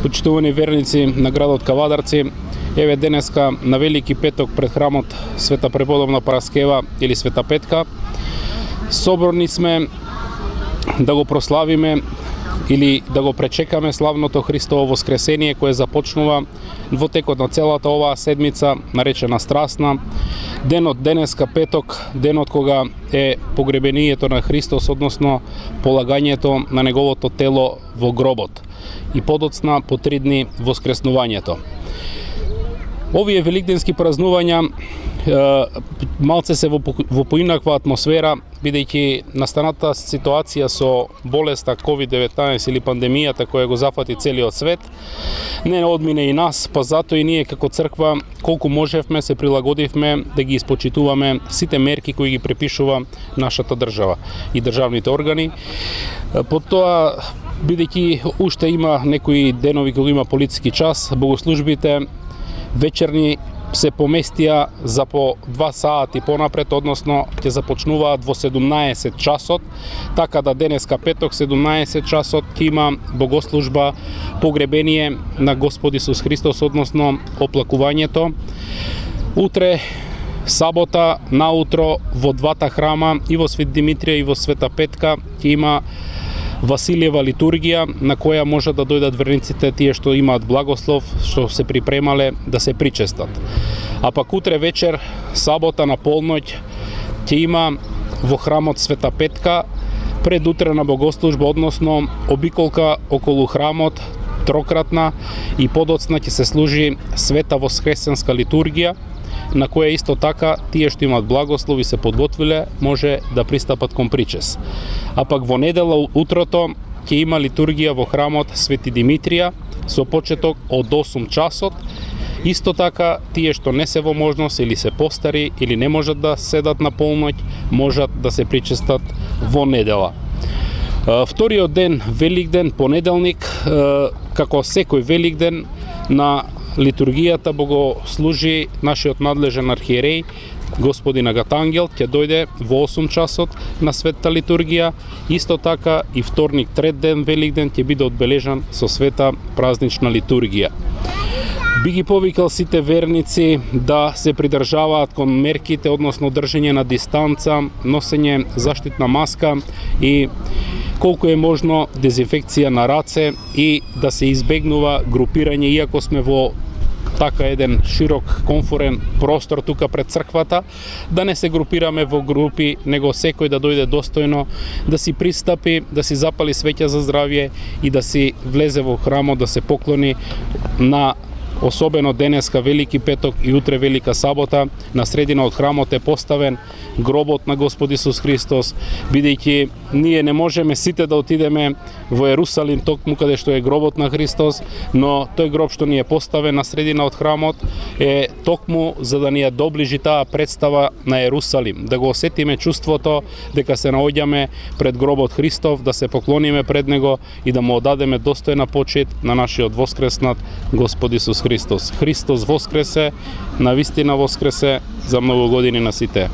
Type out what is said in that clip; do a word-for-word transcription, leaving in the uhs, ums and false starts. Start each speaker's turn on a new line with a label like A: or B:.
A: Почитувани верници на градот Кавадарци, еве денеска на Велики петок пред храмот Света Преподобна Параскева или Света Петка, соборни сме да го прославиме или да го пречекаме славното Христово воскресение кое започнува во текот на целата оваа седмица, наречена Страстна. Денот денеска петок, денот кога е погребението на Христос, односно полагањето на неговото тело во гробот и подоцна по три дни воскреснувањето. Овие великденски празнувања малце се во, во поинаква атмосфера, бидејќи настаната ситуација со болеста ковид деветнаесет или пандемијата која го зафати целиот свет, не одмине и нас, па затоа и ние како црква колку можевме се прилагодивме да ги испочитуваме сите мерки кои ги препишува нашата држава и државните органи. Потоа, бидејќи уште има некои денови кога има полициски час, богослужбите вечерни се поместија за по два сати понапред, односно ќе започнуваат во седумнаесет часот, така да денеска петок седумнаесет часот ќе има богослужба погребение на Господ Исус Христос, односно оплакувањето. Утре сабота наутро во двата храма, и во Свет Димитрија и во Света Петка, ќе има Василиева литургија, на која може да дојдат верниците, тие што имаат благослов, што се припремале да се причестат. А пак утре вечер, сабота на полноќ, ќе има во храмот Света Петка предутрена богослужба, односно обиколка околу храмот, трократна, и подоцна ќе се служи света воскресенска литургија, на која исто така тие што имаат благослов и се подготвиле може да пристапат кон причес. А пак во недела утрото ќе има литургија во храмот Свети Димитрија со почеток од осум часот. Исто така тие што не се во можност или се постари или не можат да седат на полноќ, можат да се причестат во недела. Вториот ден, Великден, понеделник, како секој Великден, на литургијата богослужи нашиот надлежен архиереј господин Агатангел, ќе дојде во осум часот на светта литургија. Исто така и вторник, трет ден, Великден, ќе биде одбележан со света празнична литургија. Би ги повикал сите верници да се придржаваат кон мерките, односно држење на дистанца, носење заштитна маска и колку е можно дезинфекција на раце, и да се избегнува групирање, иако сме во така еден широк комфорен простор тука пред црквата, да не се групираме во групи, него секој да дојде достојно, да си пристапи, да си запали свеќа за здравје и да си влезе во храмот, да се поклони на особено денеска Велики петок и утре Велика сабота. На средина од храмот е поставен гробот на Господ Исус Христос, бидејќи ние не можеме сите да отидеме во Ерусалим токму каде што е гробот на Христос, но тој гроб што ни е поставен на средина од храмот е токму за да ни ја доближи таа представа на Ерусалим, да го осетиме чувството дека се наоѓаме пред гробот Христов, да се поклониме пред него и да му одадеме достојна почит на нашиот воскреснат Господ Исус Христос. Христос воскресе, навистина воскресе, за многу години на сите.